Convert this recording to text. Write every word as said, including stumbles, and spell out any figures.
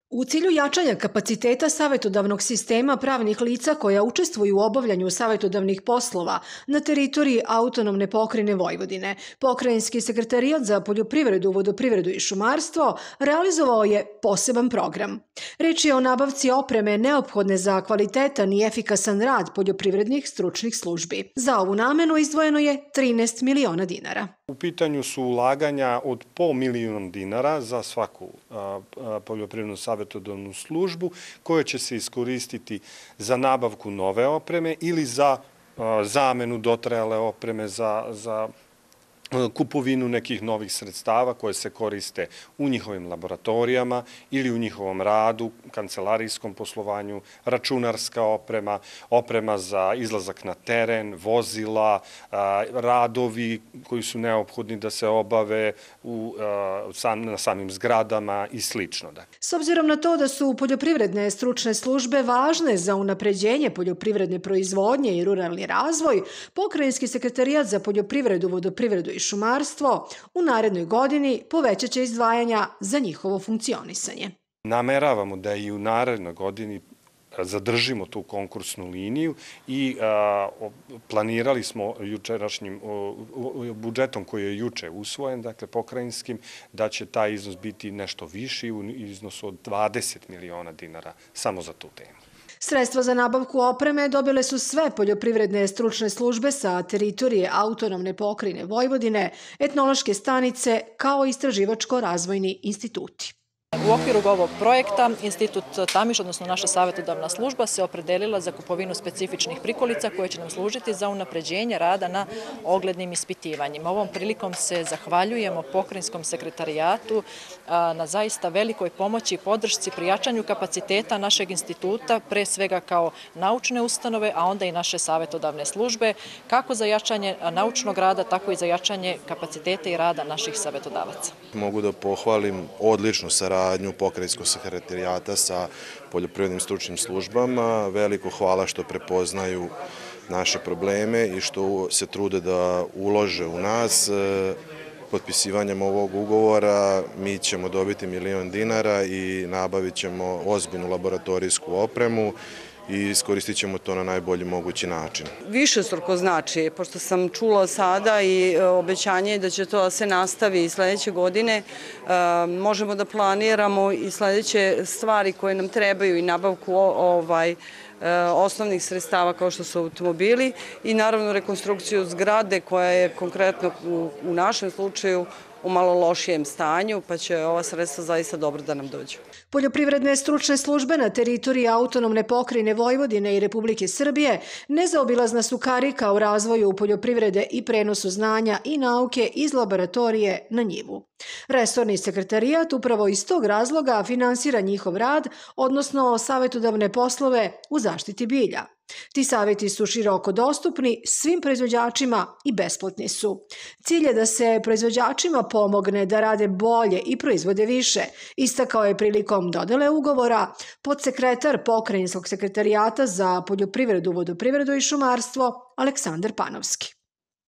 U cilju jačanja kapaciteta savjetodavnog sistema pravnih lica koja učestvuju u obavljanju savjetodavnih poslova na teritoriji autonomne pokrajine Vojvodine, Pokrajinski sekretarijat za poljoprivredu, vodoprivredu i šumarstvo realizovao je poseban program. Reč je o nabavci opreme neophodne za kvalitetan i efikasan rad poljoprivrednih stručnih službi. Za ovu namenu izdvojeno je trinaest miliona dinara. U pitanju su ulaganja od pol miliona dinara za svaku poljoprivrednu savjetodavnu službu koja će se iskoristiti za nabavku nove opreme ili za zamenu dotrajale opreme za kupovinu nekih novih sredstava koje se koriste u njihovim laboratorijama ili u njihovom radu, kancelarijskom poslovanju, računarska oprema, oprema za izlazak na teren, vozila, radovi koji su neophodni da se obave na samim zgradama i slično. S obzirom na to da su poljoprivredne stručne službe važne za unapređenje poljoprivredne proizvodnje i ruralni razvoj, Pokrajinski sekretarijat za poljoprivredu, vodoprivredu i šumarstvo u narednoj godini povećat će izdvajanja za njihovo funkcionisanje. Nameravamo da i u narednoj godini zadržimo tu konkursnu liniju i planirali smo jučerašnjim budžetom koji je juče usvojen, dakle pokrajinskim, da će taj iznos biti nešto viši u iznosu od dvadeset miliona dinara samo za tu temu. Sredstva za nabavku opreme dobile su sve poljoprivredne stručne službe sa teritorije autonomne pokrajine Vojvodine, etnološke stanice kao i istraživačko-razvojni instituti. U okviru ovog projekta Institut Tamiš, odnosno naša savjetodavna služba, se opredelila za kupovinu specifičnih prikolica koje će nam služiti za unapređenje rada na oglednim ispitivanjima. Ovom prilikom se zahvaljujemo Pokrajinskom sekretarijatu na zaista velikoj pomoći i podršci pri jačanju kapaciteta našeg instituta, pre svega kao naučne ustanove, a onda i naše savjetodavne službe, kako za jačanje naučnog rada, tako i za jačanje kapaciteta i rada naših savjetodavaca. Mogu da pohvalim odličnu saradnju Pokrajinskog sekretarijata sa poljoprivrednim stručnim službama. Veliko hvala što prepoznaju naše probleme i što se trude da ulože u nas. Potpisivanjem ovog ugovora mi ćemo dobiti milion dinara i nabavit ćemo ozbiljnu laboratorijsku opremu i iskoristit ćemo to na najbolji mogući način. Višestruko znači, pošto sam čula sada i obećanje da će to da se nastavi i sledeće godine, možemo da planiramo i sledeće stvari koje nam trebaju i nabavku osnovnih sredstava kao što su automobili i naravno rekonstrukciju zgrade koja je konkretno u našem slučaju u malo lošijem stanju, pa će ova sredstva zaista dobro da nam dođu. Poljoprivredne stručne službe na teritoriji autonomne pokrajine Vojvodine i Republike Srbije nezaobilazna su karika u razvoju poljoprivrede i prenosu znanja i nauke iz laboratorije na njivu. Resorni sekretarijat upravo iz tog razloga finansira njihov rad, odnosno savjetodavne poslove u zaštiti bilja. Ti savjeti su široko dostupni svim proizvođačima i besplatni su. Cilj je da se proizvođačima pomogne da rade bolje i proizvode više, istakao je prilikom dodele ugovora podsekretar Pokrajinskog sekretarijata za poljoprivredu, vodoprivredu i šumarstvo Aleksandar Panovski.